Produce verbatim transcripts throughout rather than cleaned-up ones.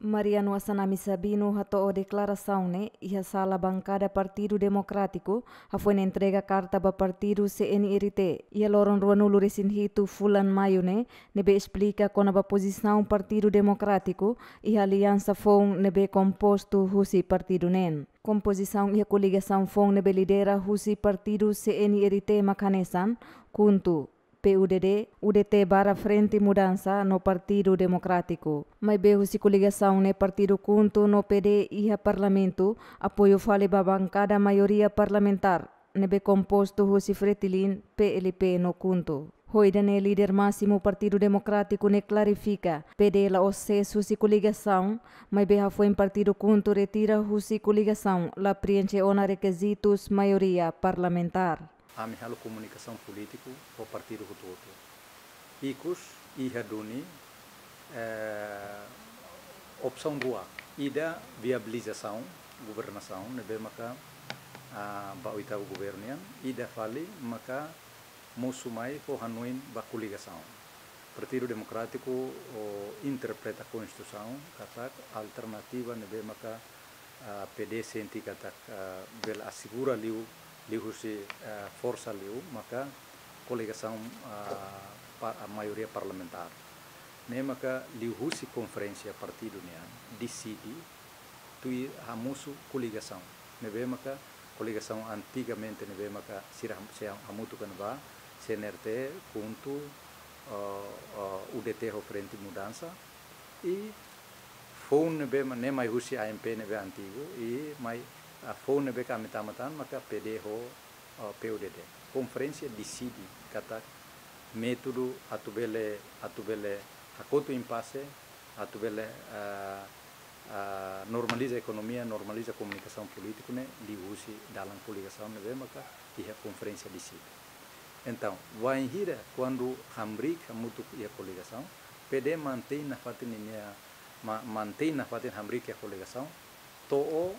Mariano Assanami Sabino hato'o deklarasaun ne'e iha sala bankada Partidu Demokrátiku, hafoin entrega karta ba partidu C N R T iha loron ruanulu-resin-hitu fulan Maiu ne'e, ne'ebé esplika kona-ba pozisaun Partidu Demokrátiku iha aliansa foun ne'ebé kompostu husi partidu neen. Kompozisaun iha koligasaun foun ne'ebé lidera husi partidu C N R T mak hanesan KHUNTO, P U D D, U D T barra Frente Mudança no Partidu Demokrátiku. Maibé husi koligasaun ne'e partidu KHUNTO no P D iha Parlamentu apoiu fali ba bankada maioria parlamentár ne'ebé kompostu husi Fretilin, P L P no KHUNTO. Ho ida-ne'e líder másimu Partidu Demokrátiku ne'e klarifika, P D la'ós sees husi koligasaun, maibé hafoin partidu KHUNTO retira husi koligasaun la preenxe ona rekizitus maioria parlamentár. Ami halo komunikasaun polítiku ho partidu hotu-hotu. Ikus iha duni, eh, opsaun rua. Ida viabilizasaun governasaun ne'ebé maka, ah, ba oitavu governu nian. Ida fali maka mosu mai ho hanoin ba koligasaun. Partidu Demokrátiku, o, interpreta Konstituisaun katak alternativa ne'ebé maka, ah, P D sente katak, ah, bele asegura liu, liuhusi, ah, forsa liu, maka koligasaun, ah, pa-, ah, maioria parlamentár. Ne'e maka liuhusi konferénsia partidu nian deside tuir hamosu koligasaun. Ne'ebé maka koligasaun antigamente ne'ebé maka sira ham-, sei hamutuk ona ba C N R T, KHUNTO, eh, eh, U D T ho Frente Mudança. I foun ne'ebé ma-, ne'e mai husi A M P ne'ebé antigu, i mai, ah, foun ne'ebé ke ami tama tan maka P D ho, eh, P U D D. Konferénsia deside katak métodu atu bele, atu bele hakotu impase, atu bele, ah, ah, normaliza ekonomia, normaliza komunikasaun polítiku ne'e liuhusi dalan koligasaun ne'ebé maka iha konferénsia deside. Entaun, wainhira kuandu hamriik hamutuk iha koligasaun, P D mantein nafatin ninia, ma-, mantein nafatin hamriik iha koligasaun, to'o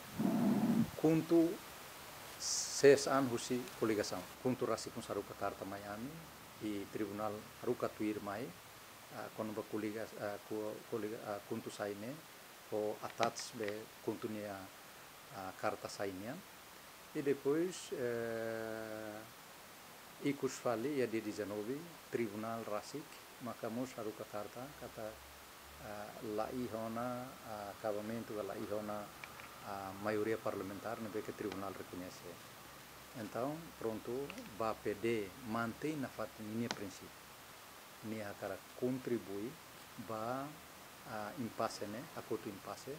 KHUNTO sees an husi koligasaun. KHUNTO rasik mós haruka karta mai ami, i tribunál haruka tuir mai, ah, kona-ba koliga-, ah, ko-, koliga-, ah, KHUNTO sai ne'e, ho attach be KHUNTO nia, ah, karta sai nian. I depois, eh, ikus fali iha dia dezanove, tribunál rasik maka mós haruka karta katak, ah, la iha ona, ah, akabamentu ka la iha ona, ah, maioria parlamentár ne'ebé ke tribunál rekoñese. Entaun, prontu, ba P D mantein nafatin ninia prinsípiu. Nia hakarak kontribui ba, ah, impase ne'e, hakotu impase,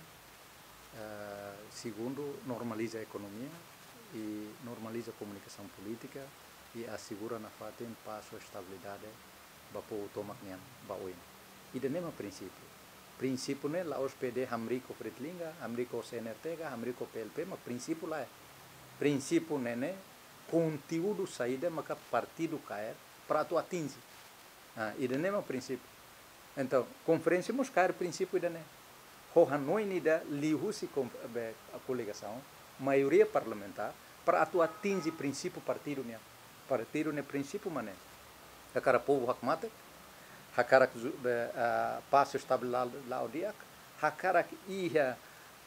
ah, segundu, normaliza ekonomia i normaliza komunikasaun polítika i asegura nafatin pás ho estabilidade ba povu tomak nian ba oin. Ida-ne'e mak prinsípiu. Prinsípiu ne'e la'ós P D hamriik ho Fretilin ka, hamriik ho C N R T ka, hamriik ho P L P, mak prinsípiu lae. Prinsípiu ne'e ne'e konteúdu saida maka partidu kaer para atu atinje. Ah, ida-ne'e mak prinsípiu. Entaun, konferénsia mós kaer prinsípiu ida-ne'e. Ho hanoin ida liuhusi konf-, be, koligasaun, maioria parlamentár, para atu atinje prinsípiu partidu nian. Partidu nia prinsípiu mak ne'e. Hakarak povu hakmatek, hakarak zu-, be, ah, pás estabilidade la'o di'ak, hakarak iha,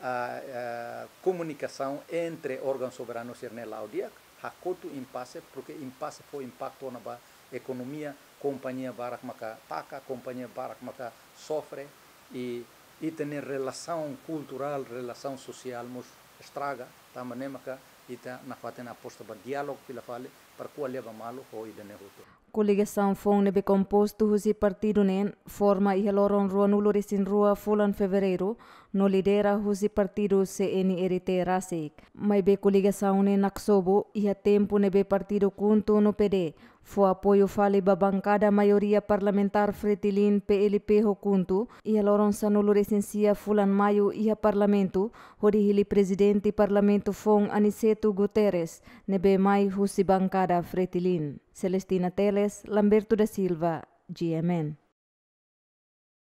ah, ah, komunikasaun entre órgaun soberanu sira-ne'e la'o di'ak, hakotu impase, porque impase fó impaktu ona ba ekonomia, kompañia barak maka taka, kompañia barak maka sofre, i, i ita-nia relasaun kulturál, relasaun sosiál mós estraga, tanba ne'e maka ita nafatin aposta ba diálogu fila fali, para ko'alia ba malu ho ida-ne'e hotu. Koligasaun foun ne'ebé kompostu husi partidu neen forma iha loron ruanulu-resin-rua fulan Fevereiru, no lidera husi partidu C N R T rasik. Maibé koligasaun ne'e naksobu iha tempu ne'ebé partidu KHUNTO no P D fó apoiu fali ba bankada maioria parlamentár Fretilin, P L P ho KHUNTO iha loron sanulu-resin-sia fulan Maiu iha Parlamentu, hodi hili Prezidente Parlamentu foun Aniceto Guterres, ne'ebé mai husi bankada Fretilin. Celestina Teles, Lamberto da Silva, G M N.